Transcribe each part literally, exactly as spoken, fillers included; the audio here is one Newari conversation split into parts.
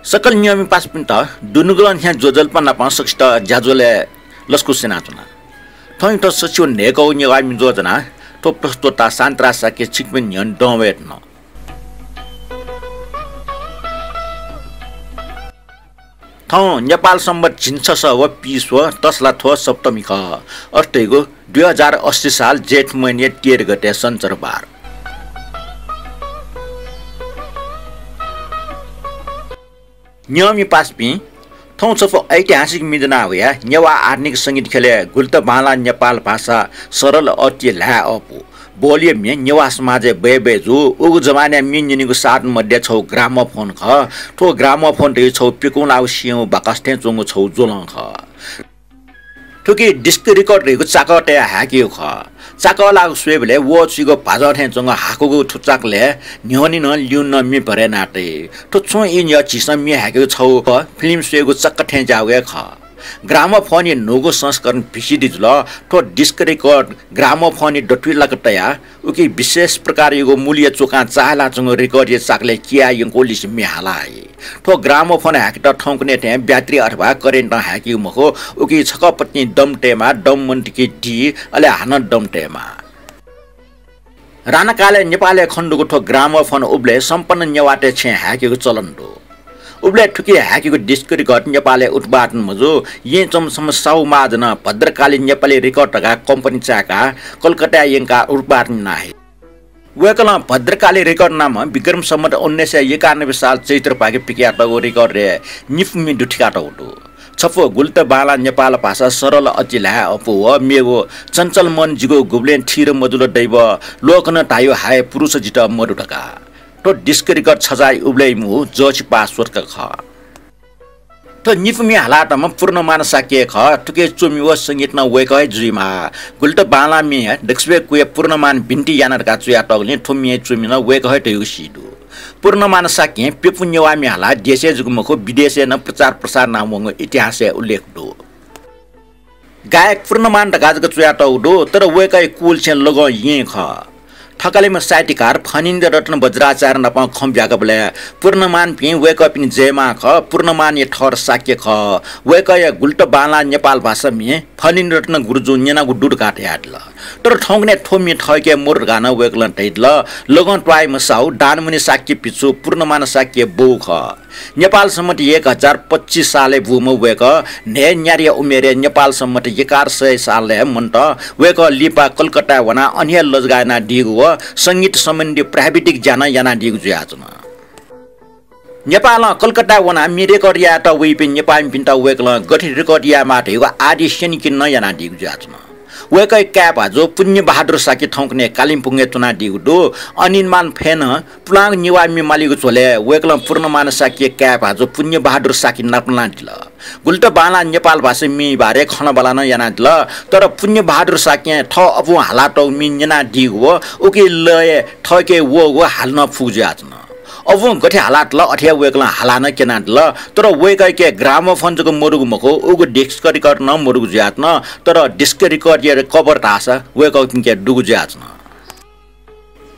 सकल नियमि पासापिन्त दुनुगलं न्ह्या ज्वजलपा नाप सकसित ज्याझ्वलय् लसकुस यानाच्वना। थौंयात सछिव न्हय्कःगु नेवाः म्ये ज्वजलपा ज्वनाः थ्व प्रस्तुतकर्ता शान्तराज शाक्य छिकपिनि न्ह्यःने दं वये धुन। थौं नेपाल संवत् झिंछसः व पीस्वः तसला थ्व सप्तमी खः। अथे धइगु दुई हजार अस्सी साल जेठ महिनाया तेह्र गते सञ्चरबार। नियमि पासापिं, थौं छपु ऐतिहासिक म्ये ज्वना वया नेवाः आधुनिक संगीत ख्यलय् गुलित बांलाः नेपाल भाषा सरल अति ल्हाये अःपु बोलिया म्ये नेवाः समाजय् बय्बय् जू। उगु जमानाय् म्ये न्यनेगु साधन मध्ये छगू ग्रामोफोन खः। थ्व ग्रामोफोन धइगु छगू प्यकुंलाःगु स्यंगू बाकस थें च्वंगु छगू ज्वलं खः। थुकी डिस्क रिकर्ड धइगु चाकः तयाः हाय्केगु खः। चाकःलाःगु स्वयेबलय् वःछुइगु भाजः थें च्वंगु हाकुगु थ्व चाकलय् न्ह्यःने नं लिउने नं म्ये भरे याना तइ। थ्व छुं ई न्ह्यः झीसं म्ये हाय्केगु छगू फिल्म स्वयेगु चाकः थें ज्याःगु हे खः। ग्रामोफोनया न्हूगु संस्करण भिसिडी जुल। थ्व डिस्क रिकर्ड ग्रामोफोनया दथुइ लाक तयाः उकी विशेष प्रकारयागु मुलया चुकां चाःहिलाच्वंगु रिकर्डया चाकलय् कियाः यंकूलिसे म्ये हाला हइ। थ्व ग्रामोफोन हाय्केत थौंकन्हय् थें ब्याट्री अथवा करेन्टं हाय्केगु मखु, उकी छकः पतिं दम तयेमाः, दम मन्तिकी दी, अले हानं दम तयेमाः। राणाकालय् नेपालय् खनेदुगु थ्व ग्रामोफोन उबलय् सम्पन्न नेवाःतय् छेँय् हाय्केगु चलन दु। उबलय् थुकी हाय्केगु डिस्क रिकर्ड नेपालय् उत्पादन मजू। येँय् च्वंम्ह छम्ह साहु महाजनं भद्रकाली नेपाली रिकर्ड धकाः कम्पनी चाय्काः कलकत्ताय् यंकाः उत्पादन याना हइ। वय्कलं भद्रकाली रिकर्ड नामं विक्रम सम्वत उन्नाइस सय एकानब्बे साल चैत्रपाखे पिकयातःगु रिकर्डय् निपु म्ये दुथिकातःगु दु। छपु गुलित बांलाः नेपाल भाषा सरल अति ल्हाये अःपु व मेगु चञ्चल मन जिगु गुबलें थिर मजुल दैव, लोकं धाइगु हाय पुरुष जितः मदु धकाः। थ्व डिस्क रिकर्ड छजाःया उबलय् मूगु जःछि पाः स्वतक खः। थ्व निपु म्ये हालातःम्ह पूर्णमान शाक्य खः। थुकी च्वमि व संगीत नं वय्कः हे जुइमाः। गुलित बांलाः म्येया दक्वसिबय् कुया पूर्णमान बिन्ति याना धकाः च्वयातःगुलिं थ्व म्येया च्वमि नं वय्कः हे धइगु सी दु। पूर्णमान शाक्यं प्यपु नेवाः म्ये हालाः देशय् जक मखु, विदेशय् नं प्रचार प्रसार यानावंगु इतिहासय् उल्लेख दु। गायक पूर्णमान धकाः जक च्वयातःगु दु, तर वय्कःया कुल छेँ लगं येँ खः। थकालिम्ह साहित्यकार फणीन्द्र रत्न वज्राचार्य नाप खँ ब्याकबलय् पूर्णमानपिं वय्कःपिनि जयमाः खः, पूर्णमानया थःत शाक्य खः। वय्कःया गुलित बांलाः नेपाल भाषा म्ये फणीन्द्र रत्न गुरुजुं न्यनागु दु धकाः धयादिल। तर थौंकन्हय् थ्व म्ये थःके मदु धकाः नं वय्कलं धयादिल। लगं त्वाःम्ह साहु दानमणि शाक्य भिक्षु पूर्णमान शाक्यया बौ खः। नेपाल सम्वत एक हजार पच्चिस सालय् बूम्ह वय्कः न्हय्न्यादँया उमेरय् नेपाल सम्वत एघार सय सालय् मन्त। वय्कः लिपा कलकत्ताय् वनाः अन हे लजगाः यानादीगु व संगीत सम्बन्धी प्राविधिक ज्या नं यानादीगु जुयाच्वन। नेपालं कलकत्ताय् वनाः म्ये रेकर्ड यायेत वइपिं नेपाःमिपिन्त वय्कलं गथे रेकर्ड यायेमाः धइगु आदि स्यनीकने नं यानादीगु जुयाच्वन। वय्कःया काय् भाजु पुण्य बहादुर शाक्य थौंकन्हय् कालिम्पोङय् च्वनादीगु दु। अनिलमान फय् नं पुलांगु नेवाः म्ये मालीगु झ्वलय् वय्कलं पूर्णमान शाक्यया काय् भाजु पुण्य बहादुर शाक्य नापलानादिल। गुलित बांलाः नेपाल भाषा म्येया बारे खँल्हाबल्हा नं यानादिल। तर पुण्य बहादुर शाक्यं थः अबुं हालातःगु म्ये न्यनादीगु व उकी लय् थःके वःगु हाले नं फुगु जुयाच्वन। अबुं गथे हालातल अथे हे वय्कलं हालाः नं क्यनादिल। तर वय्कःयाके ग्रामोफोन जक मदुगु मखु, उगु डिस्क रिकर्ड नं मदुगु जुयाच्वन। तर डिस्क रिकर्डया कभर धाःसा वय्कःपिनिके दुगु जुयाच्वन।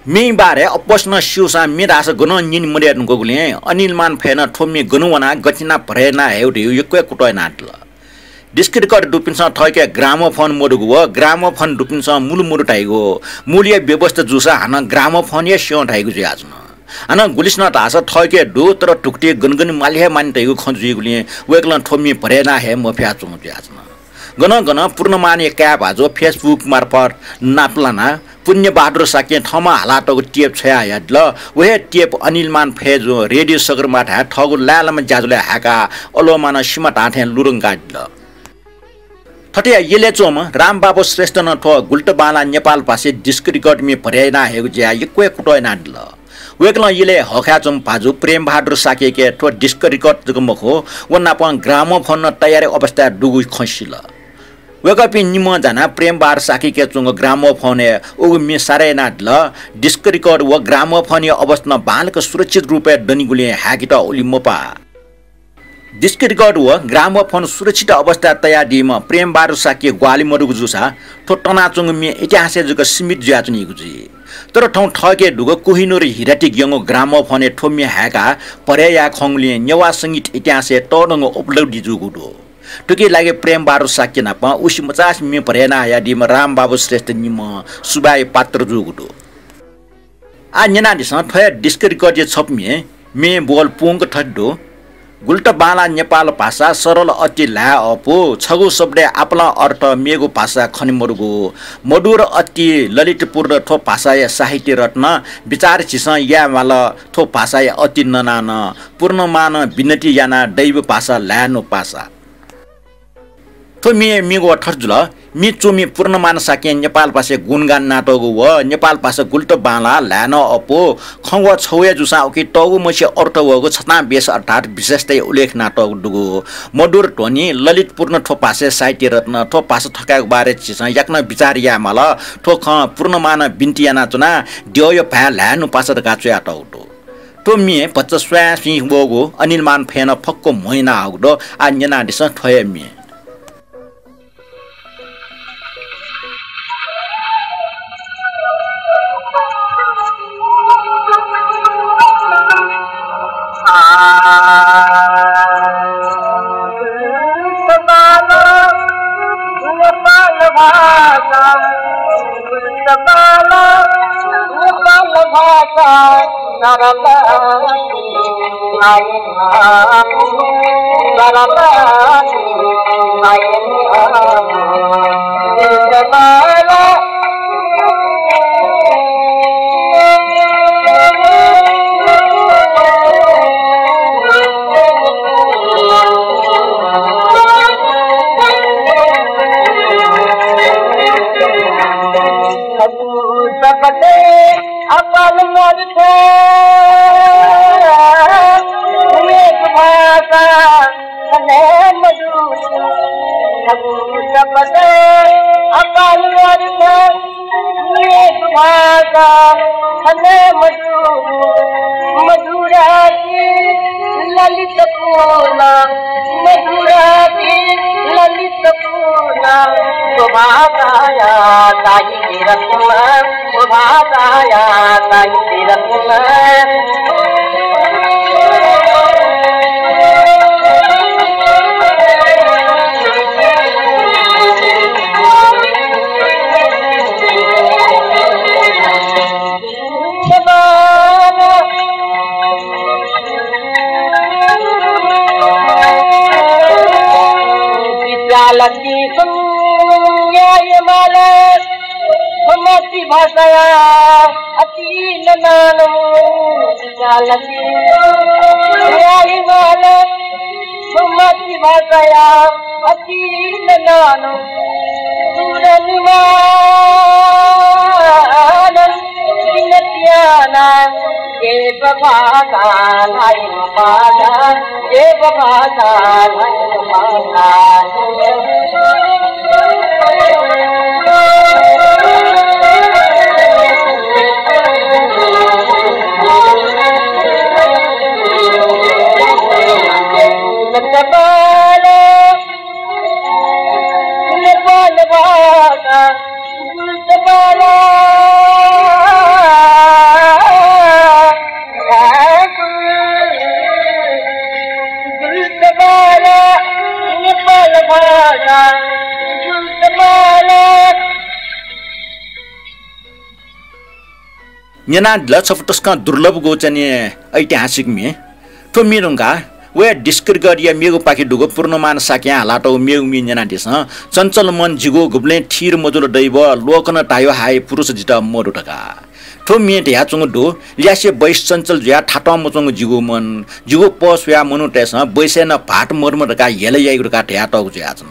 म्येया बारे अप्वःसिनं स्यूसां म्ये धाःसा गनं न्यने मदये धुंकूगुलिं अनिलमान फय् नं थ्व म्ये गन वनाः गथे यानाः भरे याना हयेगु धइगु यक्व हे कुतः यानादिल। डिस्क रिकर्ड दुपिन्सं थःके ग्रामोफोन मदुगु व ग्रामोफोन दुपिन्सं मुलु मदु धाइगु, मुलया व्यवस्था जूसा हानं ग्रामोफोन हे स्यं धाइगु जुयाच्वन। हानं गुलिसिनं धाःसा थःके दु, तर धुकुतिइ गन गन माली हे मानि धाइगु खँ जुइगुलिं वय्कलं थ्व म्ये भरे याना हये मफयाच्वंगु जुयाच्वन। गनं गनं पूर्णमानया काय् भाजु Facebook मार्फत नापलानाः पुण्य बहादुर शाक्यं थःम्हं हालातःगु टेप छ्वयाहयादिल। व हे टेप अनिलमान फय्जुं रेडियो सगरमाथाय् थःगु लाय्लाम्ह ज्याझ्वलय् हाय्काः अलोमानं सिमा धाःथें लुधंकादिल। थथे यलय् च्वंम्ह रामबाबु श्रेष्ठं नं थ्व गुलित बांलाः नेपाल भाषाया डिस्क रिकर्ड म्ये भरे याना हयेगु ज्याय् यक्व हे कुतः यानादिल। वय्कलं यलय् हःखाय् च्वंम्ह भाजु प्रेमबहादुर शाक्ययाके थ्व डिस्क रिकर्ड जक मखु, व नापं ग्रामोफोन नं तयारी अवस्थाय् दुगु खँ सिल। वय्कःपिं निम्हं जानाः प्रेमबहादुर शाक्ययाके च्वंगु ग्रामोफोनय् उगु म्ये सारे यानादिल। डिस्क रिकर्ड व ग्रामोफोनया अवस्था नं बांलाक सुरक्षित रूपय् दनिगुलिं हाय्केत उलि मपाः। डिस्क रिकर्ड व ग्रामोफोन सुरक्षित अवस्थाय् तयादीम्ह प्रेमबहादुर शाक्य ग्वाहालि मदुगु जूसा थ्व तनाच्वंगु म्ये इतिहासय् जक सीमित जुयाच्वनीगु जुइ। तर थौं थःके दुगु कोहिनूर हिरातिक यंगु ग्रामोफोनय् थ्व म्ये हाय्काः भरय् याये खंगुलिं नेवाः संगीत इतिहासय् तःधंगु उपलब्धि जूगु दु। थुकिया लागि प्रेम बहादुर शाक्य नाप उसी मचासे म्ये भरय् यानाहयादीम्ह रामबाबु श्रेष्ठ निम्ह सुभाय् पात्र जूगु दु। आः न्यनादिसँ, थ्व हे disc record-या छपु म्ये, म्ये बोल पूवंक थथे दु। गुलि त बांलाः नेपाल भाषा, सरल अति ल्हाये अःपु, छगू शब्दय् आपालं अर्थ, मेगु भाषाय् खने मदुगु, मधुर अति ललितपूर्ण थ्व भाषाया साहित्य रत्न, बिचाः झीसं याये माल थ्व भाषाया अति ननानं, पूर्णमानं बिनती यानाः दैवी भाषा ल्हाये नु पासा। थ्व म्ये, म्येगु व थथे जुल। म्ये च्वमि पूर्णमान शाक्यं नेपाल भाषाय् गुणगान यानातःगु व नेपाल भाषा गुलि त बांलाः, ल्हाये नं अःपु, खँ व छगू हे जूसां उकी तःगु मछि अर्थ वःगु छतां बेस अर्थात् विशेषताया उल्लेख यानातःगु दुगु। मधुर ध्वनि, ललितपूर्ण थ्व भाषाया साहित्य रत्न, थ्व भाषा थकायेगु बारे झीसं याकनं बिचाः याये माल। थ्व खँ पूर्णमानं बिन्ति यानाच्वना, द्यःया भाय् ल्हाये नु पासा धकाः च्वयातःगु दु। थ्व म्ये भचा स्वाँय् सुं वःगु अनिलमान फय्‌नं फक्व म्हो यानाहःगु दु। आः न्यनादिसँ थ्व हे म्ये। अपन अर्थ, मेगु भाषा खने मदु। छगू शब्द अपन अर्थ, मेगु भाषा खने मदु। मधुराति ललितपूर्ण, मधुराति ललितपूर्ण, थ्व भाषाया साहित्य रत्न, थ्व भाषाया साहित्य रत्न। विद्यालक्ष्मी सुन याये माला, थ्व मातृभाषाया अति ननानं। विद्यालक्ष्मी सुन याये माला, थ्व मातृभाषाया अति ननानं। सुर निमानं बिनती याना, देव भाषा ल्हाये नु पासा, देव भाषा ल्हाये नु पासा। नेपाल भाषा, गुलि त बांलाः, गुलि त बांलाः, नेपाल भाषा, गुलि त बांलाः। न्यनादिल छपु तसकं दुर्लभगु चाहिँ ऐतिहासिक म्ये। थ्व म्ये धुंकाः वया disc record-या मेगु पाखे दुगु पूर्णमान शाक्यं हालातःगु मेगु म्ये न्यनादिसँ। चञ्चल मन जिगु गुबलें थिर मजुल दैव, लोकं धायो हाय पुरुष जितः मदु धकाः। थ्व म्यें धयाच्वंगु दु, ल्यासे बैस चञ्चल जुयाः थातं मच्वंगु जिगु मन, जिगु पः स्वयाः मनूतय्‌सं बैसय् नं भाःत मदुम्ह धकाः हेला याइगु धकाः धयातःगु जुयाच्वन।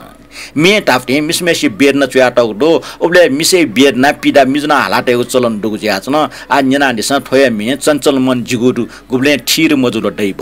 म्यें धाःथें मिसाम्हय्‌सिया वेदना च्वयातःगु दु। उबलय् मिसाया वेदनां पीडा मिजु नं हालातयेगु चलन दुगु जुयाच्वन। आः न्यनादिसँ थ्व हे म्ये चञ्चल मन जिगु दु, गुबलें थिर मजुल दैव।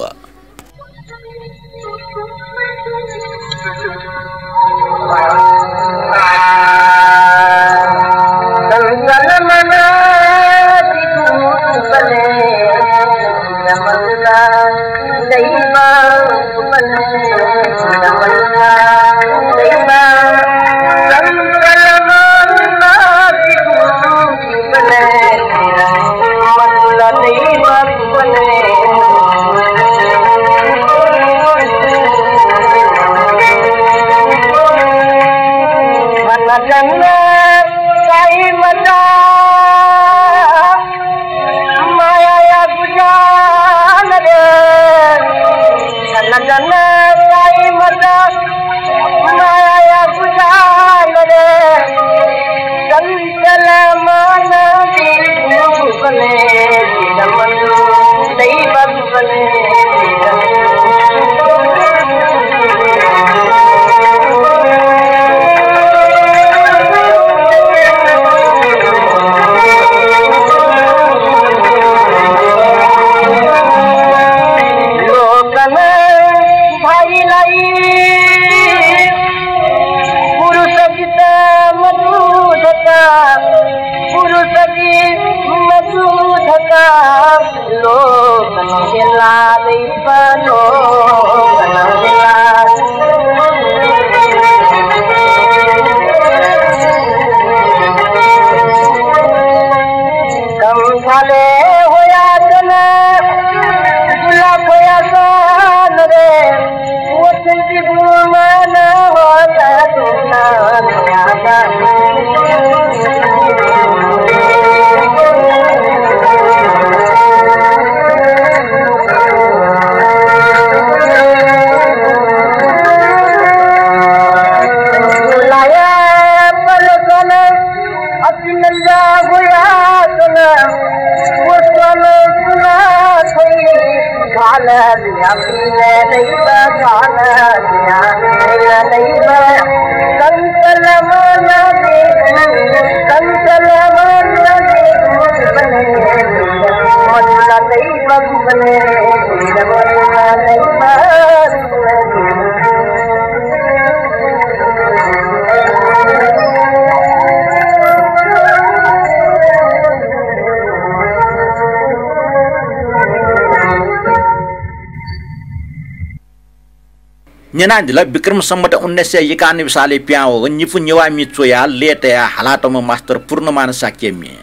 न्यनादिल, विक्रम सम्वत उन्नाइस सय एकानब्बे सालय् पिहां वःगु निपु नेवाः म्ये च्वयाः लय् तयाः हालातःम्ह मास्टर पूर्णमान शाक्य म्ये।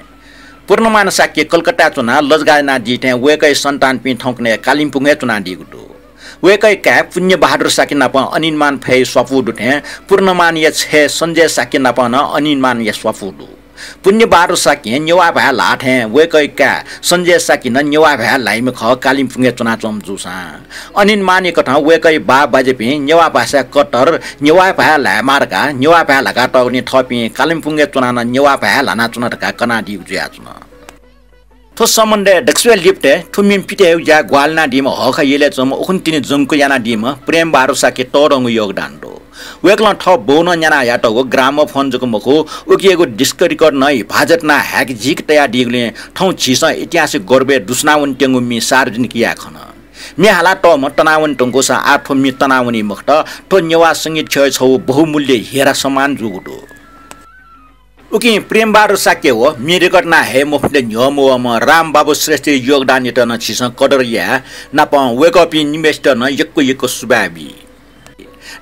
पूर्णमान शाक्य कलकत्ताय् च्वनाः लजगाः यानादी थें वय्कःया सन्तानपिं थौंकन्हय् कालिम्पोङय् च्वनादीगु दु। वय्कःया काय् पुण्य बहादुर शाक्य नाप अनिलमान फय् स्वापू दु थें पूर्णमानया छय् सञ्जय शाक्य नाप नं अनिलमानया स्वापू दु। पुण्य बहादुर शाक्यं नेवाः भाय् ल्हाः थें वय्कःया काय् सञ्जय शाक्य नं नेवाः भाय् ल्हाइम्ह खः, कालिम्पोङय् च्वनाच्वंम्ह जूसां। अनिलमानया कथं वय्कःया बाः बाज्यापिं नेवाः भाषाय् कट्टर, नेवाः भाय् ल्हायेमाः धकाः नेवाः भाय् ल्हाकातःगुलिं थःपिं कालिम्पोङय् च्वनाः नं नेवाः भाय् ल्हानाच्वन धकाः कनादीगु जुयाच्वन। थ्व सम्बन्धय् दकलय् लिपतय् थ्व म्ये पित हयेगु ज्या ग्वाहालि यानादीम्ह हःखः यलय् च्वंम्ह उखुन्हु तिनि जंक्व यानादीम्ह प्रेम बहादुर शाक्य तःधंगु योगदान दु। वय्कलं थः बौनं न्याना हयातःगु ग्रामोफोन जक मखु, उकियागु डिस्क रिकर्ड नं हिफाजत यानाः हाय्क झीक तयादीगुलिं थौं झीसं इतिहासय् गौरवय् दुस्वनावनेत्यंगु म्ये सार्वजनिक याये खन। म्ये हालातःम्ह तनावने धुंकूसां आः थ्व म्ये तनावनी मखुत, थ्व नेवाः संगीत ख्यःया छगू बहुमूल्य हिरा समान जूगु दु। उकिं प्रेम बहादुर शाक्य व म्ये रिकर्ड याना हये मफुनिं न्ह्यः मवःम्ह रामबाबु श्रेष्ठया योगदानयात नं झीसं कदर याये, नापं वय्कःपिं निम्हय्सित नं यक्व यक्व सुभाय् बी।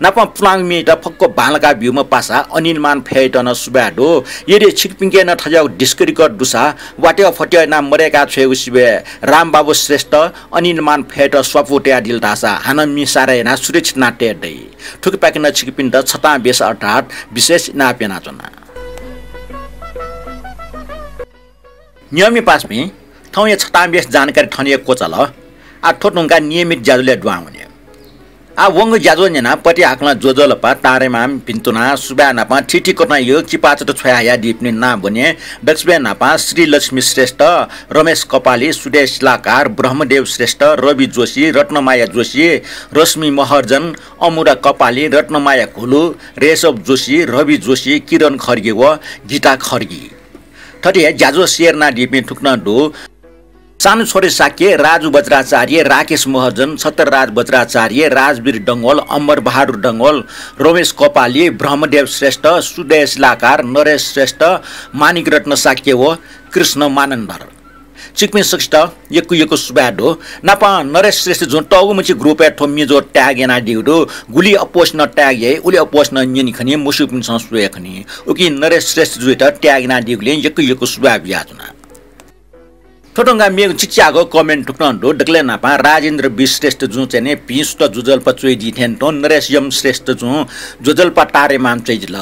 नापं पुलांगु म्येयात फक्व बांलाका ब्यूम्ह पासा अनिलमान फय्‌यात नं सुभाय् दु। यदि छिकपिंके नं थज्याःगु डिस्क रिकर्ड दुसा, वात्याः फत्याः यानाः मदय्‌का छ्वयेगु सिबय् रामबाबु श्रेष्ठ अनिलमान फय्‌यात स्वापू तयादिल धाःसा हानं म्ये सारे यानाः सुरक्षित यानाः तये दइ। थुकिपाखें नं छिकपिन्त छतां बेस अर्थात् विशेष इनाप यानाच्वना। नियमित पासापिं, थौंया छतां बेस जानकारी थन हे क्वचाल। आः थ्व धुंकाः नियमित ज्याझ्वलय् दुहां वने। आः वंगु ज्याझ्वः न्यनाः पति हाकलं ज्वजलपा, तारेमाम, भिन्तुना, सुभाय् नापं थीथी कथंयागु चिपाचात छ्वया हयादीपिनि नां ब्वने। दकलय् न्हापां श्रीलक्ष्मी श्रेष्ठ, रमेश कपाली, सुदेश शिलाकार, ब्रह्मदेव श्रेष्ठ, रवि जोशी, रत्नमाया जोशी, रश्मि महर्जन, अमुदा कपाली, रत्नमाया घुलु, रेशव जोशी, रवि जोशी, किरण खड्गी व गीता खड्गी। थथे हे ज्याझ्वः share यानादीपिं थुकथं दु। सानुछोरे शाक्य, राजु बज्राचार्य, राकेश महर्जन, छत्रराज बज्राचार्य, राजवीर डंगोल, अमर बहादुर डंगोल, रमेश कपाली, ब्रह्मदेव श्रेष्ठ, सुदेश शिलाकार, नरेश श्रेष्ठ, माणिक रत्न शाक्य व कृष्ण मानन्धर। छिकपिं सकसित यक्व यक्व सुभाय् दु। नापं नरेश श्रेष्ठ जुं तःगु मछि group-य् थ्व म्ये ज्वः tag यानादीगु दु। गुलि अप्वःसिनं tag याइ, उलि अप्वःसिनं न्यनी खनी, मस्यूपिन्सं स्वये खनी। उकिं नरेश श्रेष्ठ जुयात tag यानादीगुलिं यक्व यक्व सुभाय् बियाच्वना। थ्व धुंकाः मेगु चिचाःगु comment थुकथं दु। दकलय् न्हापां राजेन्द्र बी श्रेष्ठ जुं चाहिँ नि भिं सुथ ज्वजलपा च्वइदी थें तुं नरेश यम श्रेष्ठ जुं ज्वजलपा तारेमाम च्वइदिल।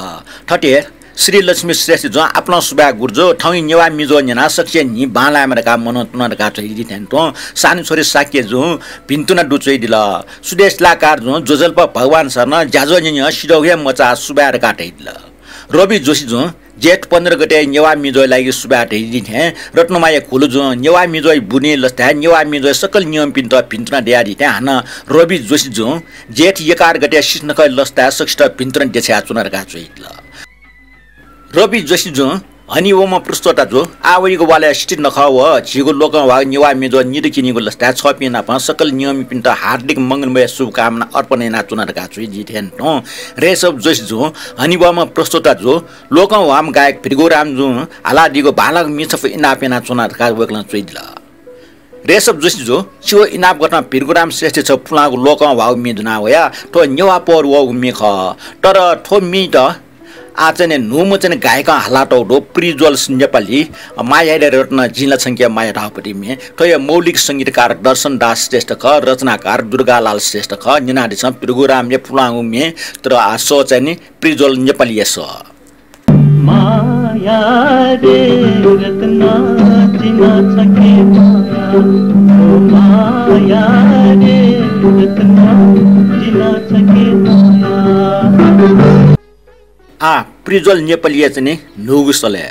थथे श्रीलक्ष्मी श्रेष्ठ जुं आपालं सुभाय् गुरुजु, थौंया नेवाः म्ये ज्वः न्यनाः सकसिया न्हि बांलायेमा धकाः मनं तुना धकाः च्वइदी थें तुं सानुछोरे शाक्य जुं भिन्तुना दु च्वइदिल। सुदेश शिलाकार जुं ज्वजलपा भगवान शरण ज्याझ्वः न्यनेगु सिधःगु हे मचाः सुभाय् धकाः धयादिल। रवि जोशी जुं जेठ पन्ध्र गते नेवाः म्ये ज्वःया लागि सुभाय् धयादी थें रत्नमाया घुलु जुं नेवाः म्ये ज्वःया बुदिंया लसताय् नेवाः म्ये ज्वःया सकल नियमपिन्त भिन्तुना दयादी थें हानं रवि जोशी जुं जेठ एघार गते सिसनखःया लसताय् सकसित भिन्तुना देछायाच्वना धकाः च्वइदिल। रवि जोशी जुं हनेबहःम्ह प्रस्तोता जु, आः वइगु वालय् सितिनखः व झीगु लोकंह्वाःगु नेवाः म्ये ज्वः निदँ क्यनीगु लसताय् छःपिं नाप सकल नियमीपिन्त हार्दिक मंगलमय शुभकामना अर्पण यानाच्वना धकाः च्वइदी थें तुं रेशव जोशी जुं हनेबहःम्ह प्रस्तोता जु, लोकंह्वाःम्ह गायक भृगुराम जुं हालादीगु बांलाःगु म्ये छपु इनाप यानाच्वना धकाः वय्कलं च्वइदिल। रेशव जोशी जु, छिगु इनाप कथं भृगुराम श्रेष्ठया छगू पुलांगु लोकंह्वाःगु म्ये दुना वया। थ्व नेवाः पौर वःगु म्ये खः। तर थ्व म्येयात आः चाहिँ नि न्हूम्ह चाहिँ नि गायकं हालातःगु दु, प्रिज्वल नेपाली, माया याये रत्न जिं ला छंके माया धाःगु पति म्ये। थ्वया मौलिक संगीतकार दर्शन दास श्रेष्ठ खः, रचनाकार दुर्गालाल श्रेष्ठ खः। न्यनादिसँ भृगुरामया पुलांगु म्ये, तर आः सः चाहिँ नि प्रिज्वल नेपालीया सः। माया रे रत्न जिं ला छंके माया, ओ माया रे रत्न जिं ला छंके माया। आः प्रिज्वल नेपालीया चाहिँ नि न्हूगु सलय्।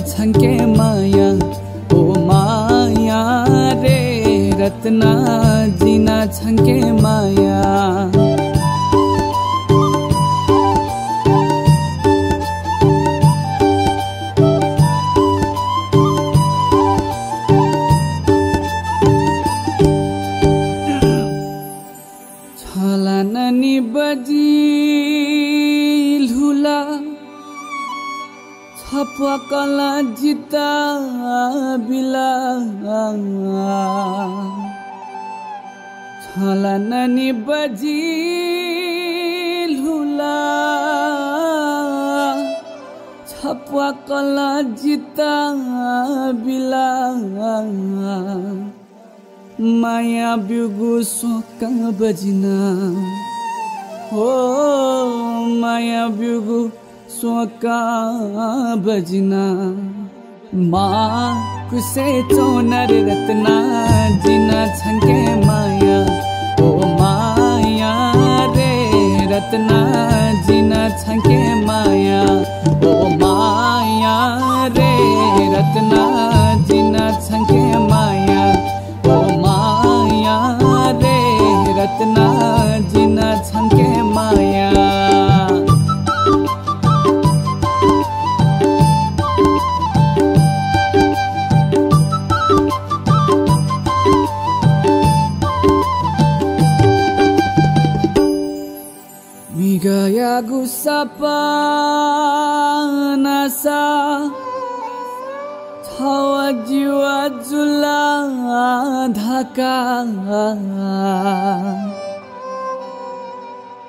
छंके माया, ओ माया रे रत्ना, जिं नं छंके माया। छला ननि बजि ल्हुला, छप्वाकल जिता बिला। छला ननि बजि ल्हुला, छप्वाकल जिता बिला। माया ब्यूगु स्वकाः बजिना, हो माया ब्यूगु स्वकाः बजिना। माकुसे च्वना रे रत्ना, जिं नं छंके माया। ओ माया रे रत्ना, जिं नं छंके माया। ओ माया रे रत्ना, जिं नं छंके माया। ओ माया रे रत्ना, जिं नं छंके माया। म्हिगःयागु सपना सा, छव जिव जुला धकाः।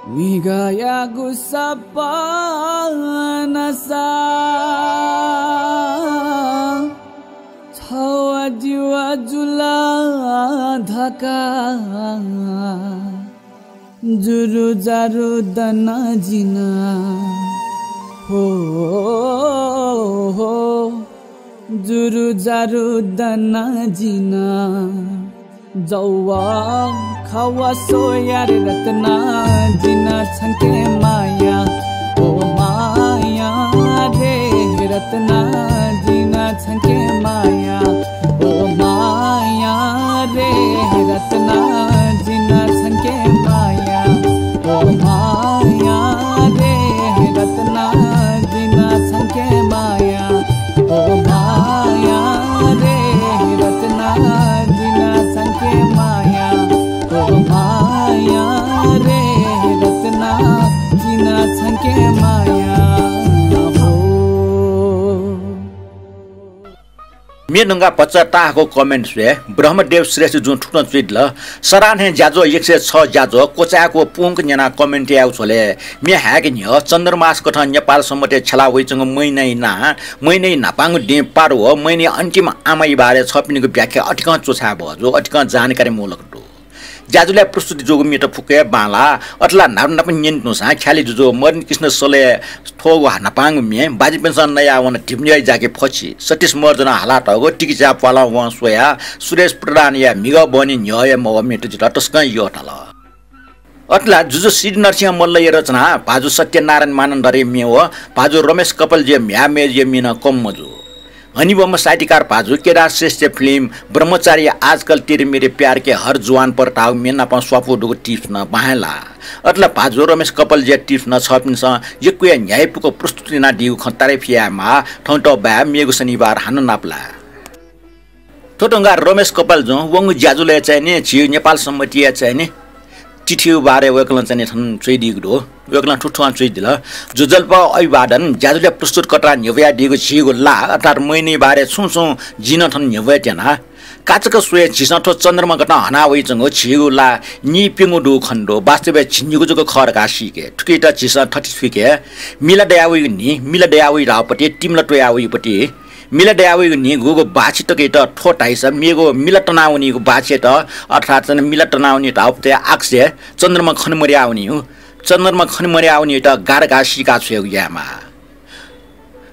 म्हिगःयागु सपना सा, छव जिव जुला धकाः। जुरु जारु दना जिं नं, हो, हो, जुरु जारु दना जिं नं। जव खव स्वया रे रत्ना, जिं नं छंके माया। ओ माया रे रत्ना, जिं नं छंके माया। ओ माया रे रत्ना, जिं नं छंके माया। ओ माया रे रत्ना, जिं नं छंके माया। ओ माया रे रत्ना, जिं नं छंके माया। ओ माया रे रत्ना, जिं नं छंके माया। हो। म्ये नुंगा भचा ताःहाकःगु comment स्वये ब्रह्मदेव श्रेष्ठजुं थुकथं च्वयादिल। सरां हे ज्याझ्वः एक सय छ ज्याझ्वः क्वचायेगु पूवंक न्यनाः comment यायेगु झ्वलय् म्ये हायेके न्ह्यः चन्द्रमास कथं नेपाल सम्बतय् छ्यला वइच्वंगु महिनाया नां, महिनाया न्हापांगु दिं पारु व महिनाया अन्तिम आमाया बारे छपिनिगु व्याख्या अतिकं च्वछाये बहःजू, अतिकं जानकारी मूलक दु। ज्याझ्वलय् प्रस्तुति जूगु म्येत फुक्क हे बांलाः। अथे ला न्हापा न्हापा न्यने धुंसां ख्यालि जुजु मदन कृष्ण सलया थ्वःगु न्हापांगु म्ये बाज्यापिन्सं नयावन धिबा न्ह्यः ज्याकि फछि सतीश महर्जनं हालातःगु तिकिच्या प्वालं वं स्वयाः सुरेश प्रधानया म्हिगः बहनी न्ह्यः हे मवः म्येत जितः तसकं यःथाल। अथे ला जुजु सिद्धिनरसिंह मल्लया रचना भाजु सत्यनारायण मानन्धरया म्ये व भाजु रमेश कपालजुया म्ह्याय् मय्जुया म्ये नं कम मजू। हनेबहःम्ह साहित्यकार भाजु केदार श्रेष्ठया film ब्रह्मचारी आजकल तेरे मेरे प्यार के हर जुवान पर धाःगु म्ये नाप स्वापू दुगु tips नं बां हे लाः। अथे ला भाजु रमेश कपालजुया tips नं छपिन्सं यक्वया न्ह्याइपुक प्रस्तुत यानादीगु खँ तारिफ यायेमाः। थौं तःबाय् मेगु शनिबार हानं नापलाये। थ्व धुंकाः रमेश कपालजुं वंगु ज्याझ्वलय् चाहिँ नि झी नेपाल सम्बतया चाहिँ नि तिथिया बारे वय्कलं चाहिँ नि थन च्वयादीगु दु। वय्कलं थुकथं च्वयादिल, ज्वजलपा अभिवादन। ज्याझ्वलय् प्रस्तुतकर्तां न्ह्यब्वयादीगु झीगु ला अर्थात् महिनाया बारे छुं छुं जिं नं थन न्ह्यब्वये त्यना। काचाक्क स्वये, झीसं थ्व चन्द्रमा कथं हना वइच्वंगु झीगु ला नीप्यंगू दुगु खनेदु। वास्तवय् झिंनिगू जक खः धकाः सीके। थुकियात झीसं थथे थुइके, मिला दयावइगु न्हि, मिला दयावइ धाःगु पति, तिमिला त्वयावइगु पति। मिला दयावइगु न्हि गुगु बाछि तकयात थ्व धाइसा मेगु मिला तनावनीगु बाछियात, अर्थात् चाहिँ मिला तनावनी धाःगु पति आकाशय् चन्द्रमा खने मदयावनीगु। चन्द्रमा खने मदयावनीयात गा धकाः सीका छ्वयेगु यायेमाः।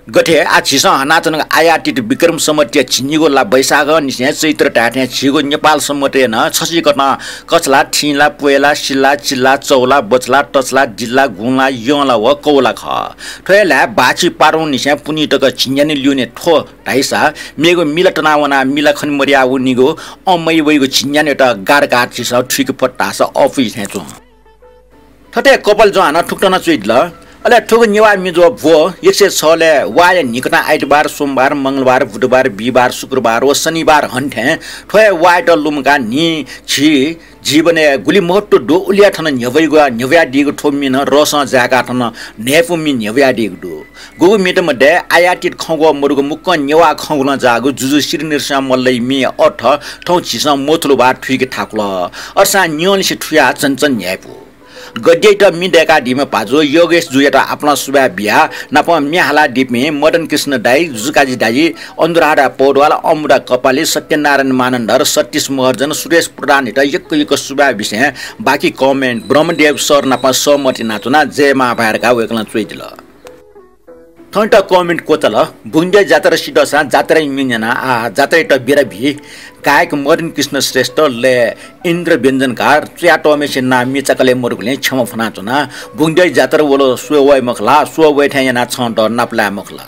गथे आः झीसं हनाच्वनागु आयातीत विक्रम सम्वतया झिंनिगू ला वैशाखंनिसें चैत्र धायेथें झीगु नेपाल सम्वतय् नं छसिकथं कछला, थिंला, प्वय्ला, सिला, चिला, चौला, बछला, तछला, दिला, गुंला, यंला व कौला खः। थ्व हे ल्हाय् बाःछि पारुंनिसें पुन्हि तक झिंन्यान्हु ल्यूने थ्व धाइसा मेगु मिला तनावनाः मिला खने मदया वनीगु अमय् वइगु झिंन्यान्हुयात गारगार झीसं थुइके फत धाःसा अःपुइ थें च्वं। थथे कपालजं हानं थुकथं नं च्वयादिल। अले थुगु नेवाः मिजो ब्व एक सय छलय् वाःया न्हिकथं आइतबार, सोमबार, मंगलबार, बुधबार, बिहिबार, शुक्रबार व शनिबार हनेथें थ्व हे वाःयात लुमंकाः न्हि झी जीवनय् गुलि महत्व दु उलिया थन न्ह्यब्वइगु, न्ह्यब्वयादीगु थ्व मि नं रसं जाय्काः थन न्हाय्पु मि न्ह्यब्वयादीगु दु। गुगु मित मध्ये आयातीत खंगु मदुगु मुक्कं नेवाः खंगुलं जाःगु जुजु श्री नृसिंह मल्लया म्ये अर्थ थौं झीसं मथुलु वा थुइके थाकुल। अथेसां न्ह्यःनिसें थुयाः चंचन न्ह्याइपु। गद्ययात मि दय्कादीम्ह भाजु योगेश जुयात आपालं सुभाय् बियाः नापं म्ये हालादीपिं मदन कृष्ण दाइ, जुजुकाजी दाइ, अनुराधा पौडवाल, अमुदा कपाली, सत्यनारायण मानन्धर, सतीश महर्जन, सुरेश प्रधानयात यक्व यक्व सुभाय् बिसें बाकी comment ब्रह्मदेव सर नाप सहमत यानाच्वनाः जय मां भाय् धकाः वय्कलं च्वयादिल। थौंयात comment क्वचाल। बुंगद्यः जात्रा सिधःसां जात्राया म्ये न्यनाः आः जात्रायात बिदा बी। गायक मदन कृष्ण श्रेष्ठ, लय इन्द्र व्यञ्जनकार, च्वयातःम्हेसिया नां म्ये चाकलय् मदुगुलिं क्षमा फ्वनाच्वना। बुंगद्यः जात्रा वल स्वये वये मखु ला, स्वये वये थें यानाः छं दः नापलाये मखु ला।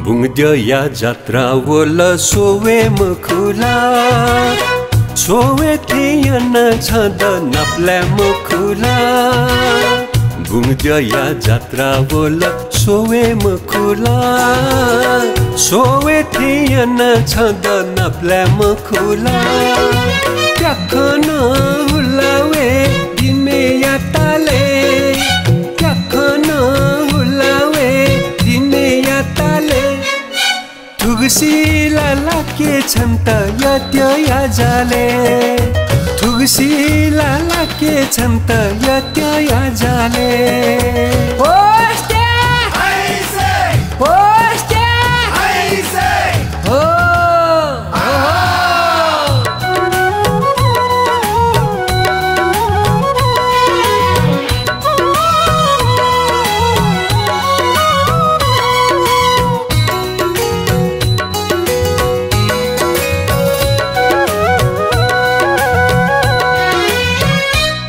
बुंगद्यःया जात्रा वल स्वये मखु ला, स्वये थें यानाः छं दः नापलाये मखु ला। बुंगद्यःया जात्रा वल स्वये मखु ला, स्वये थें यानाः छं दः नापलाये मखु ला। प्याखं हुला वये दिनया तालय्, प्याखं हुला वये दिनया तालय्। थुगुसी ला लाके छन्त यःत्यःया जालय्, थुगुसी ला लाके छन्त यःत्यःया जालय्। होस्टे! होस्टे! हो, हो, हो।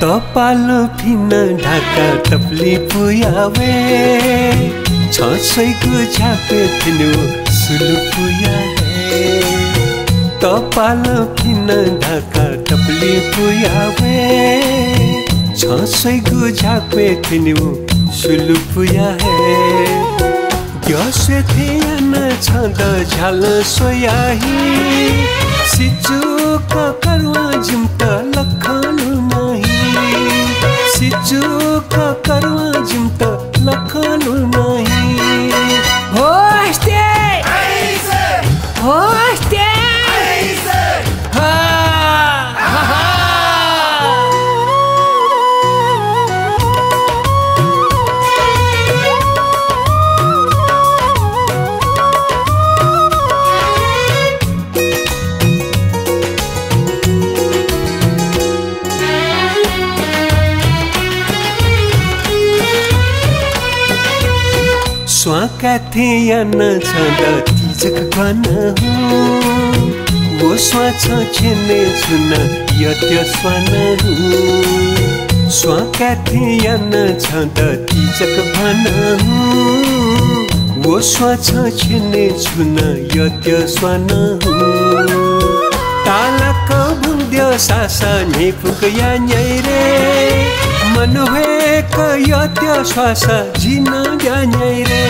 तःपालं फिन ढाका तपुलि पुया वये, छं स्वइगु झ्यापे थ्यनेगु सुलु पुया हये। तःपालं फिन ढाका तपुलि पुया वये, छं स्वइगु झ्यापे थ्यनेगु सुलु पुया हये। द्यः स्वये थें यानाः छं दः झ्यालं स्वया हि। सिचुक करुवां जिमित लखं लुना हि। सिचुक करुवां जिमित लखं लुना हि। होस्टे! होस्टे! हा! हा, हा। स्वां काये थें यानाः छं दः तिजक ग्वाना हुँ। व स्वां छं छ्यने छुना यःत्यः स्वाना हुँ। स्वां काये थें यानाः छं दः तिजक ग्वाना हुँ। व स्वां छं छ्यने छुना यःत्यः स्वाना हुँ। तालाक बुंगद्यः सासा न्ह्यइपुक या न्याइ रे। मनू हे क यःत्यः स्वासा जि नं ब्या न्याइ रे।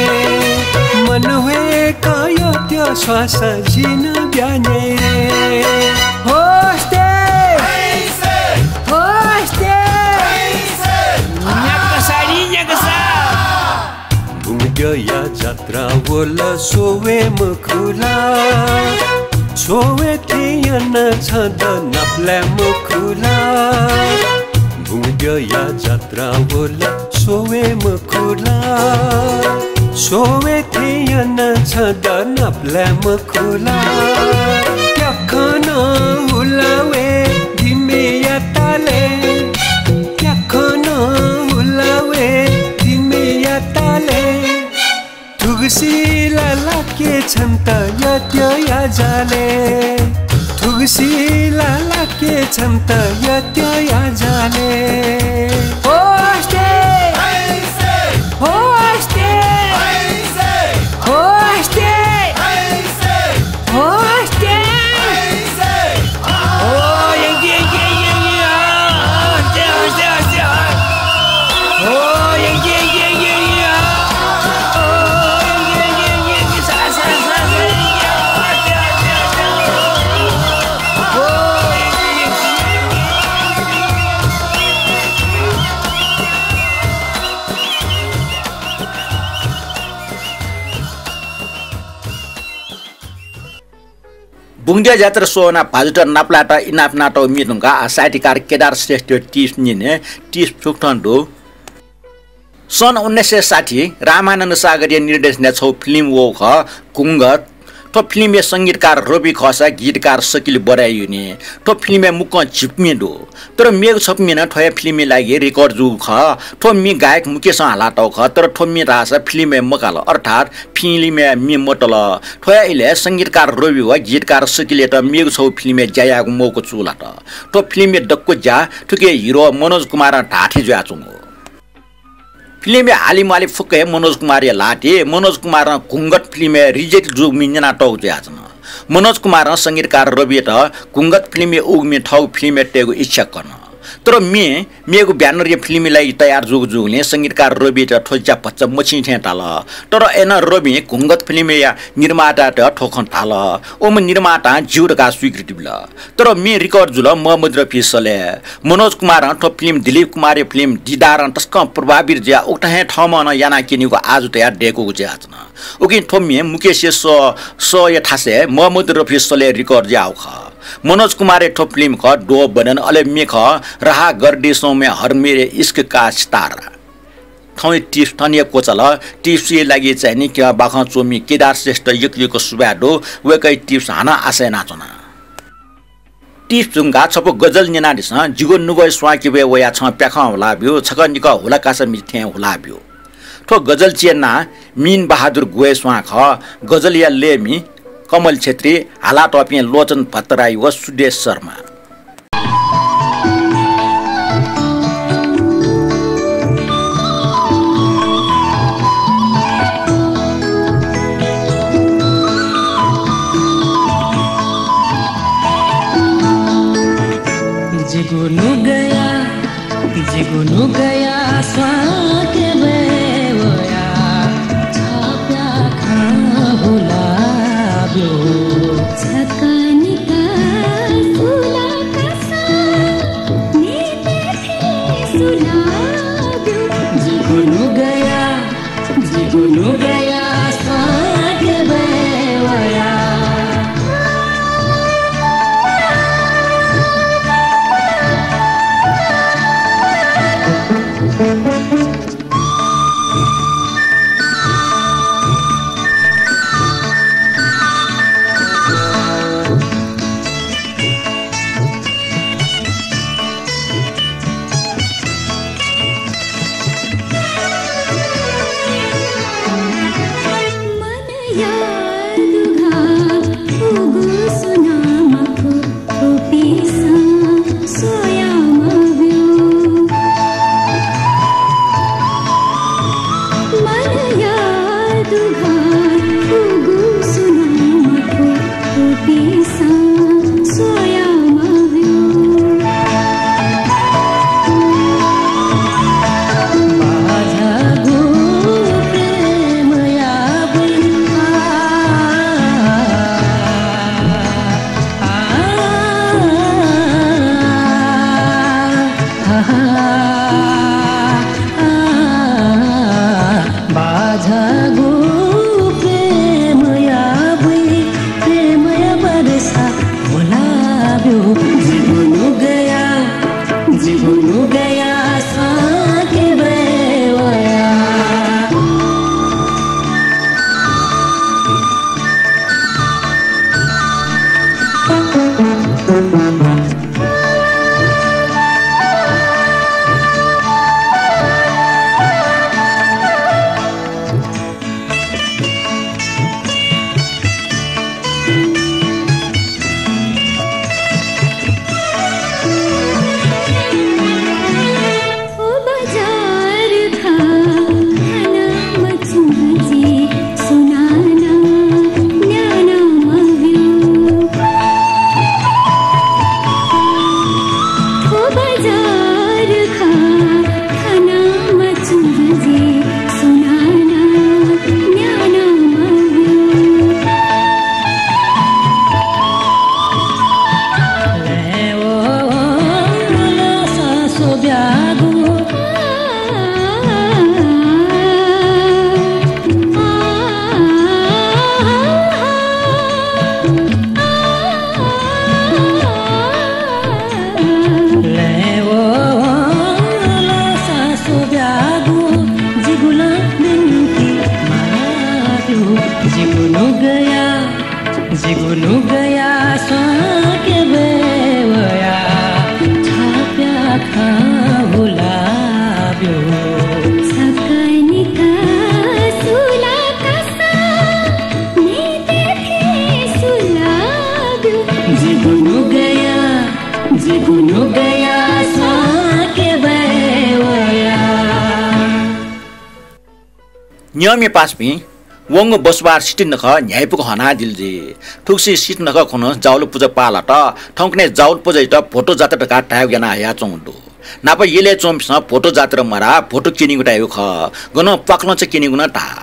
मनू हे क यःत्यः स्वासा जि नं ब्या न्याइ रे। होस्टे! या जात्रा वल स्वये मखु ला, स्वये थें याना छं द नापलाये मखु ला। बुंगद्यःया जात्रा वल स्वये मखु ला, स्वये थें याना छं द नापलाये मखु ला। प्याखं नं हुला वये दिमेया तालय्, प्याखं नं हुला वये दिमेया तालय्। थुगुसी ला लाके छन्त यःत्यःया जालय्, थुगुसी ला लाके छन्त यःत्यःया जालय्। होस्टे! होस्टे! होस्टे! बुंगद्यः जात्रा स्वः वनाः भाजुत नापलायेत इनाप यानातःगु म्ये धुंकाः आः साहित्यकार केदार श्रेष्ठया tips न्यने। Tips थुकथं दु। सन् उन्नाइस सय साठी रामानन्द सागरया निर्देशनय् छगू film वःगु खः, घुंघट। थ्व film या संगीतकार रवि खःसा गीतकार सकिल बराइयुनि। थ्व film या मुक्कं झिपु म्ये दु। तर मेगु छपु म्ये नं थ्वया film या लागि record जूगु खः। थ्व म्ये गायक मुकेशं हालातःगु खः, तर थ्व म्ये धाःसा film या मकाल, अर्थात् film या म्ये मतल। थ्वया इलय् संगीतकार रवि व गीतकार सकिलयात मेगु छगू film या ज्या यायेगु मौका चूलात। थ्व film या दक्व ज्या थुकिया hero मनोज कुमारं धाःथें जुयाच्वंगु। Film या हालिम्वालि फुक्क हे मनोज कुमारया ल्हातय्। मनोज कुमारं घुंघट film या reject जूगु म्ये न्यनातःगु जुयाच्वन। मनोज कुमारं संगीतकार रवियात घुंघट film या उगु म्ये थःगु film या तयेगु इच्छा कन। तर म्ये मेगु banner या film या लागि तयार जूगु जूगुलिं संगीतकार रवियात थ्व ज्या भचा मछिं थें ताल। तर अय्‌नं रविं घुंघट film या निर्मातायात थ्व खँ धाल। उम्ह निर्मातां ज्यू धकाः स्वीकृति बिल। तर म्ये record जुल मोहम्मद रफी सलेह। मनोज कुमारं थ्व film दिलीप कुमारया film दीदारं तसकं प्रभावित जुयाः उकथं हे थःम्हं नं यानाः क्यनीगु आजु तयाः दय्‌कूगु जुयाच्वन। उकिं थ्व म्ये मुकेशया सः, सःया थासय् मोहम्मद रफी सलेहं record याःगु खः। मनोज कुमारया थ्व film खः दो बदन, अले म्ये खः रहा गर्दिशों में हर मेरे इश्क का सितारा। थौंया tips थन हे क्वचाल। Tips या लागि चाहिँ नि क्यं बाखं च्वमि केदार श्रेष्ठ यक्व यक्व सुभाय् दु। वय्‌कःया tips हानं आशा यानाच्वना। Tips धुंकाः छपु गजल न्यनादिसँ। जिगु नुगः स्वां किबय् वयाः छं प्याखं हुला ब्यु, छकः निकः हुला कासा मिजि थें हुला ब्यु। थ्व गजल च्यनाः मीन बहादुर गुहय् स्वां खः। गजलया लय्‌मि कमल छेत्री, हालातःपिं लोचन भट्टराई व सुदेश शर्मा। जिगु नुगःया, जिगु नुगःया स्वां किबय् वयाः छं प्याखं हुला ब्यु। छकः निकः हुला कासा मिजि थें हुला ब्यु। जिगु नुगःया, जिगु नुगःया स्वां किबय् वयाः। नियमय् पासापिं वंगु बसुबार सितिं नखः न्ह्याइपुक हनादिल जुइ। थुगुसी सितिं नखः खुन्हु जावल पुजा पाः लात। थौंकन्हय् जावल पुजायात भोटो जात्रा धकाः धायेगु याना हयाच्वंगु दु। न्हापा यलय् च्वंपिन्सं भोटो जात्रा मधाः, भोटो क्यनीगु धायेगु खः। गनं प्वाखलंचा क्यनीगु नं धाः।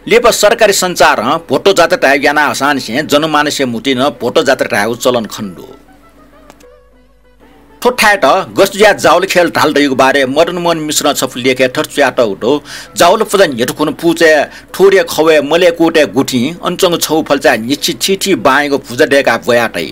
लिपा सरकारी सञ्चारं भोटो जात्रा धायेगु याना हःसांनिसें जनमानसया म्हुतुइ नं भोटो जात्रा धायेगु चलन खने दु। थ्व थाय्‌त गथे जुयाः जावल ख्यल धाल धइगु बारे मदन मोहन मिश्रं छपु लेखय् थथे च्वयातःगु दु। जावल पुजा न्ह्यथु खुन्हु पुचय् थुरे खवय् मलय् कुतय् गुथिं अन च्वंगु छगू फल्चाय् न्हिच्छि थीथी बांयागु भुजा दय्‌काः ब्वया तइ।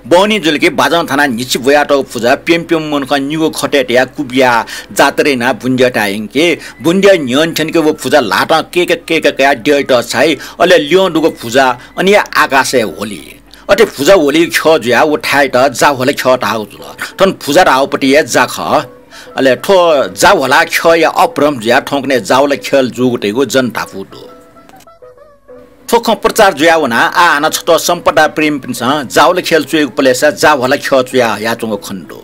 बहनी जुल कि बाजं थानाः न्हिच्छि ब्वयातःगु भुजा प्यम्ह प्यम्ह मनुखं निगू खतय् तयाः कुबियाः जात्रा यानाः बुन्द्यःथाय् यंकी। बुन्द्यः न्ह्यःने थ्यंके व भुजा ल्हातं केक केक कयाः द्यःइत छाइ। अले ल्यं दुगु भुजा अन हे आकाशय् ह्वली। अथे भुजा ह्वलीगु ख्यः जुयाः व थाय्‌त जाह्वला ख्यः धाःगु जुल। थन भुजा धाःगुपट्टि हे जा खः। अले थ्व जाह्वला ख्यःया अपभ्रंश जुयाः थौंकन्हय् जावल ख्यल जूगु धइगु जनधापू दु। थ्व खँ प्रचार जुयाः वनाः आः हानं छत्वः सम्पदा प्रेमीपिन्सं जावल ख्यल च्वयेगु पलेसा जाह्वला ख्यः च्वया हयाच्वंगु खने दु।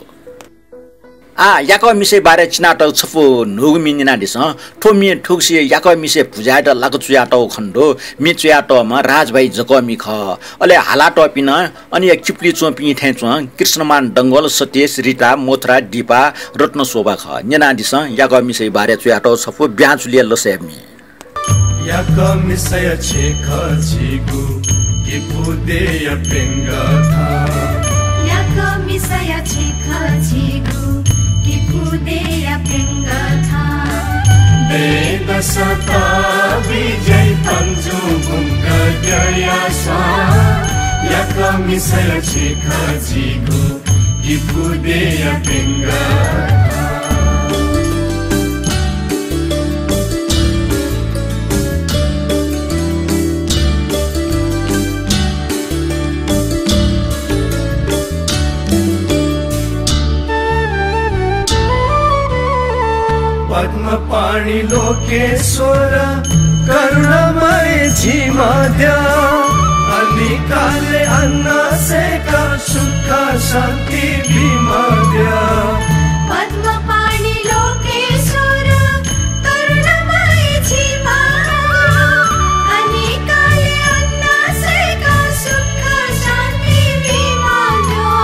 आः याकः मिसाया बारे चिनातःगु छपु न्हूगु म्ये न्यनादिसँ। थ्व म्ये थुगुसी याकः मिसाया भुजायात लाक चुयातःगु खने दु। म्ये चुयातःम्ह राजभाइ जकःमि खः। अले हालातःपिं नं अन हे किपुलिइ च्वंपिं थें च्वं कृष्णमान डंगोल, सतीश, रिता, मोथरा, दीपा, रत्नशोभा खः। न्यनादिसँ याकः मिसाया बारे चुयातःगु छपु ब्याँचुलिया लसय् म्ये। याकः मिसाया छेँखः झीगु किपु देया प्यंगः थां। याकः मिसाया छेँखः झीगु किपु देया प्यंगः थां। दँय्‌दसं तःबि ज्याइ तंजुं बुंगद्यःया स्वां। याकः मिसाया छेँखः झीगु किपु देया प्यंगः थां। पद्मपाणि लोकेश्वर करुणामय झीम्ह द्यः। अनिकालय् अन्न सय्‌काः सुख शान्ति बीम्ह द्यः। पद्मपाणि लोकेश्वर करुणामय झीम्ह द्यः। अनिकालय् अन्न सय्‌काः सुख शान्ति बीम्ह द्यः।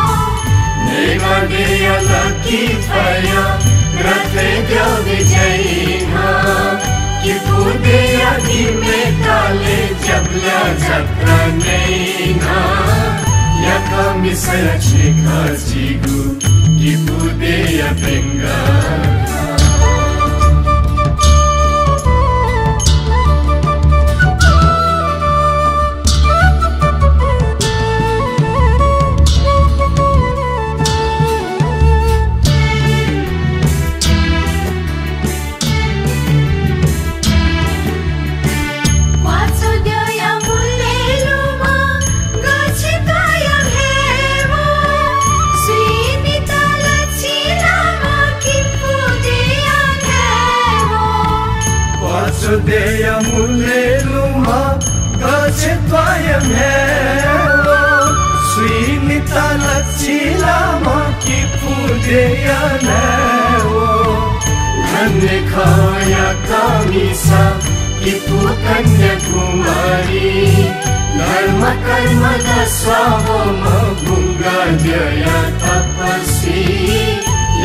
नेवाः देया लखी थ्वया रथय् द्यः बिज्याइन्हः। किपु देया गिमे तालय् ज्याबुल्या जात्रा नइन्हः। याकः मिसाया छेँखः झीगु किपु देया प्यंगः। क्वाचु द्यःया मुलय् लुमं गछि त्वाःया म्हेवं। स्वीनिता लछि लाःम्ह किपु देया म्हेवं। क्वाचु द्यःया मुलय् लुमं गछि त्वाःया म्हेवं। स्वीनिता लछि लाःम्ह किपु देया म्हेवं। धन्य खः याकः मिसा किपु कन्याकुमारी। धर्म कर्मत स्वाःवःम्ह बुंगद्यःया तपस्वी।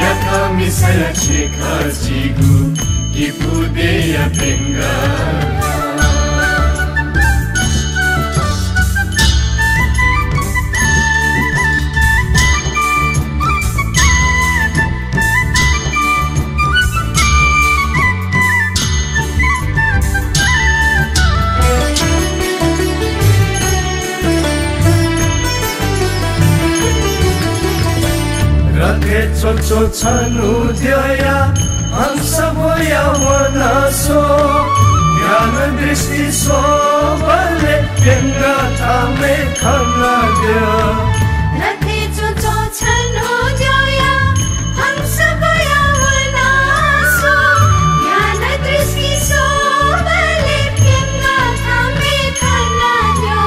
याकः मिसाया छेँखः झीगु किपु देया प्यंगः। रथय् च्वंच्वं छन्हु द्यःया हंस ब्वया वनाः स्व। ध्यान दृष्टि स्वबलय् प्यंगः थामय् खनाद्यः। रथय् च्वंच्वं छन्हु द्यःया हंस ब्वया वनाः स्व। ध्यान दृष्टि स्वबलय् प्यंगः थामय् खनाद्यः।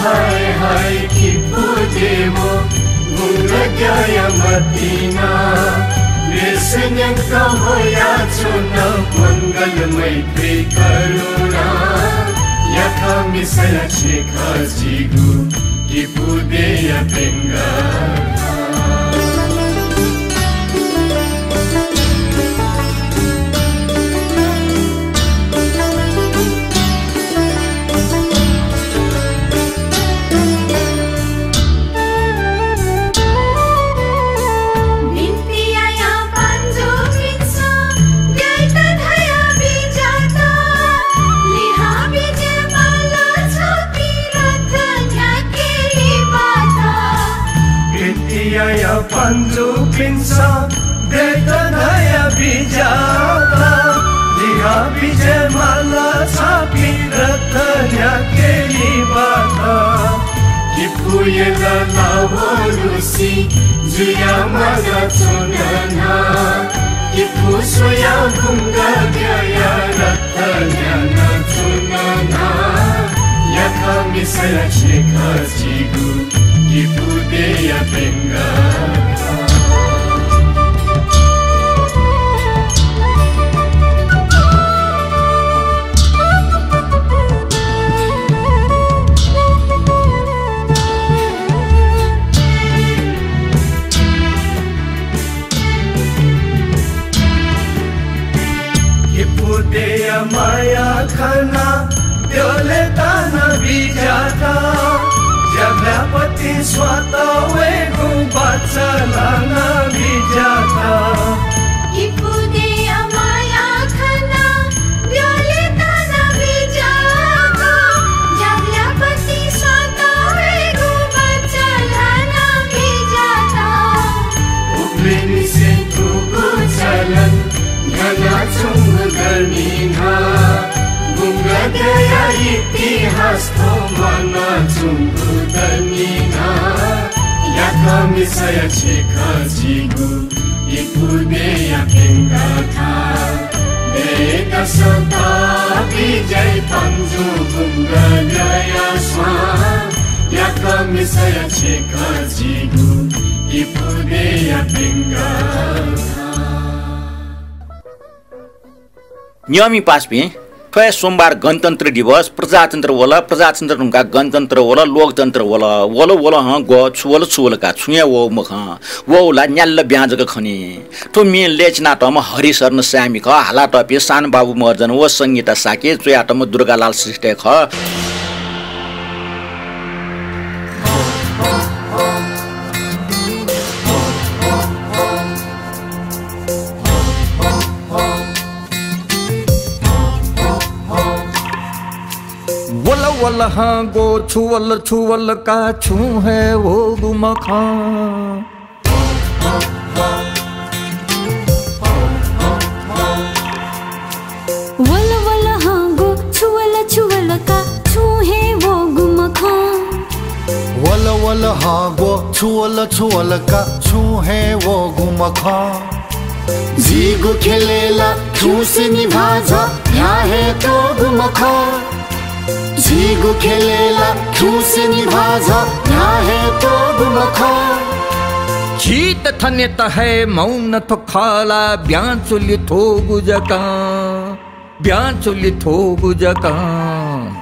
हाय हाय किपु देवं बुंगद्यःया मतिना। न्यंक ह्वयाच्वन मंगल मैत्री करुणा। याकःमिसया छेँखः झीगु किपू देय्‌या प्यंगः। बिन्ति यायां पाँजुपिन्सं द्यःयात धया बिज्यात। लिहां बिज्याये माल छपिं रथ न्ह्याके लिबात। बिन्ति यायां पाँजुपिन्सं द्यःयात धया बिज्यात। लिहां बिज्याये माल छपिं रथ न्ह्याके लिबात। किपू यल लावरुसि जुया माला च्वन ना। किपू स्वयाः बुंगाद्यःया रथ न्ह्यानाच्वन ना। याकःमिसया छेँखः झीगु किपू देय्‌या प्यंगः। किपू देय्‌या माया खनाः द्यःयात नं बिज्यात। ज्याभ्यापतिं स्वात वयेगु बाचा ल्हाना बिज्यात। किपू देय्‌या माया खनाः द्यःयात नं बिज्यात। ज्याभ्यापतिं स्वात वयेगु बाचा ल्हाना बिज्यात। उबलय् निसें थुगु चलन न्ह्यानाच्वंगु दनि ना। बुंगाद्यःया इतिहास थ्व म्वानाच्वंगु दनि ना। याकःमिसया छेँखः झीगु किपू देय्‌या प्यंगः खः। दय्‌यात सःता बिज्याइ पाँजु बुंगाद्यःया स्वां। याकःमिसया छेँखः झीगु किपू देय्‌या प्यंगः खः। नियमि पासापिं, थ्व हे सोमबार गणतन्त्र दिवस, प्रजातन्त्र वल, प्रजातन्त्र धुंकाः गणतन्त्र वल, लोकतन्त्र वल, वल वल हँ ग्व, छु वल छु वल का, छुं हे वःगु मखं, वःगु ला न्याल्ल ब्यां जक खनी। थ्व म्ये लय् च्वनातःम्ह हरिशरण साय्मि खः, हालातःपिं सानबाबु महर्जन व संगीता शाक्य, च्वयातःम्ह दुर्गालाल श्रेष्ठ हे खः। वल वल हँ ग्व, छु वल छु वल का, छुं हे वःगु मखं। वल वल हँ ग्व, छु वल छु वल का, छुं हे वःगु मखं। वल वल हँ ग्व, छु वल छु वल का, छुं हे वःगु मखं। झीगु ख्यलय् ला खिउँसे निभाः झः न्ह्याः हे त्वःगु मखं। झीगु ख्यलय् ला खिउँसे निभाः झः न्ह्याः हे त्वःगु मखं। झीत थनेत हे मौन थ्व खः ला ब्यां चुलि थ्वःगु जकं, ब्यां चुलि थ्वःगु जकं।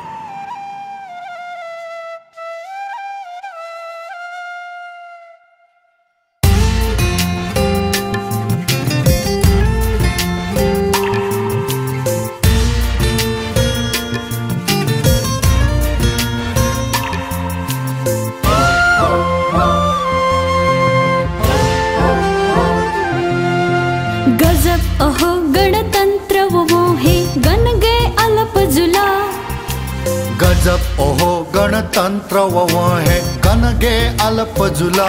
गजब अहो गणतन्त्र ववं हे गन गय् अलप जुल। गजब अहो गणतन्त्र ववं हे गन गय् अलप जुल।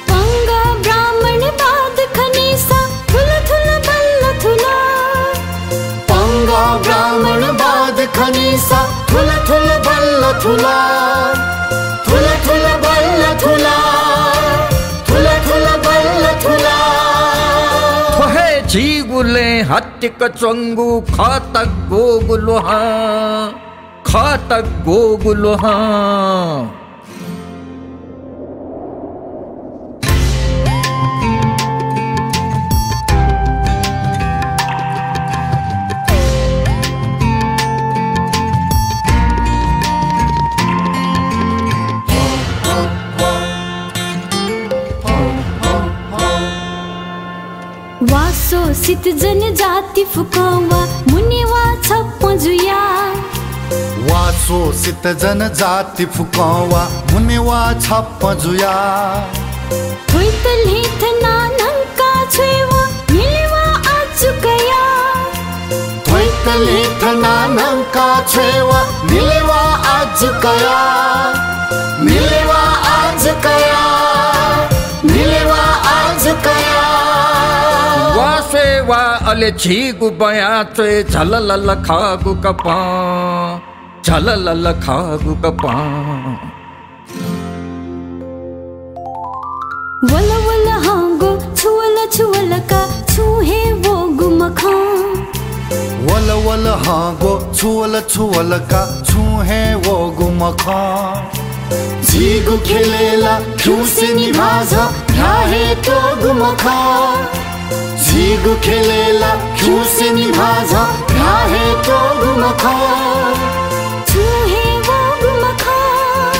पंगा ब्राह्मणवाद खनीसा थुल थुल बल्ल थुल। पंगा ब्राह्मणवाद खनीसा थुल थुल बल्ल थुल। थुल थुल बल्ल थुल। थुल थुल बल्ल थुल। थ्व हे झीगु लँय् हत्तिक च्वंगु खः तग्वःगु ल्वहं, खः तग्वःगु ल्वहं। जनजाति फुकं वा, मुने वा छप्पँ जुया। वा शोषित जनजाति फुकं वा, मुने वा छप्पँ जुया। थ्वइत ल्हें थना न्हंका छ्वये वा, मिले वा आजु कया। थ्वइत ल्हें थना न्हंका छ्वये वा, मिले वा आजु कया। मिले वा आजु कया। मिले वा आजु कया। वा स्वये वा अले झीगु बँया च्वये, झललल खःगु कपं, झललल खःगु कपं। वल वल हंगो, छु वल छु वल का, छुं हे वःगु मखं। वल वल हंगो, छु वल छु वल का, छुं हे वःगु मखं। झीगु ख्यलय् ला खिउँसे निभाः झ, भ्याः हे त्वःगु मखं। झीगु ख्यलय् ला खिउँसे निभाः झ, भ्याः हे त्वःगु मखं। छुं हे वःगु मखं।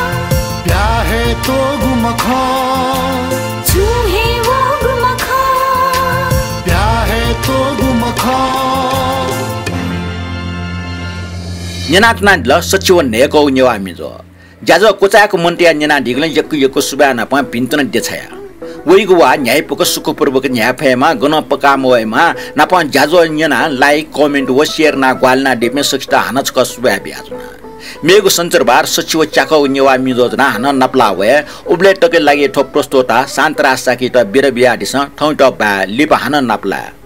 भ्याः हे त्वःगु मखं। छुं हे वःगु मखं। भ्याः हे त्वःगु मखं। न्यनाच्वनादिल सच्छि व न्हय्‌कःगु नेवाः म्हिगः। ज्याझ्वः क्वचाय्‌क मन्तया न्यनादीगुलिं यक्व यक्व सुभाय् नापं भिंतुना देछाया। वइगु वाः न्ह्याइपुक सुखपूर्वक न्ह्याये फयेमा, गनं पका मवयेमा, नापं ज्याझ्वः न्यनाः like, comment व share यानाः ग्वाहालि यानादीपिं सकसितं हानं छकः सुभाय् बियाच्वना। मेगु सञ्चरबार सच्छि व च्याकःगु नेवाः म्हिगः ज्वनाः हानं नापलाः वये। उबलय् तकया लागि थ्व प्रस्तोता शान्तराज शाक्ययात बिदा बियादिसँ। थौंयात बाय्, लिपा हानं नापलाये।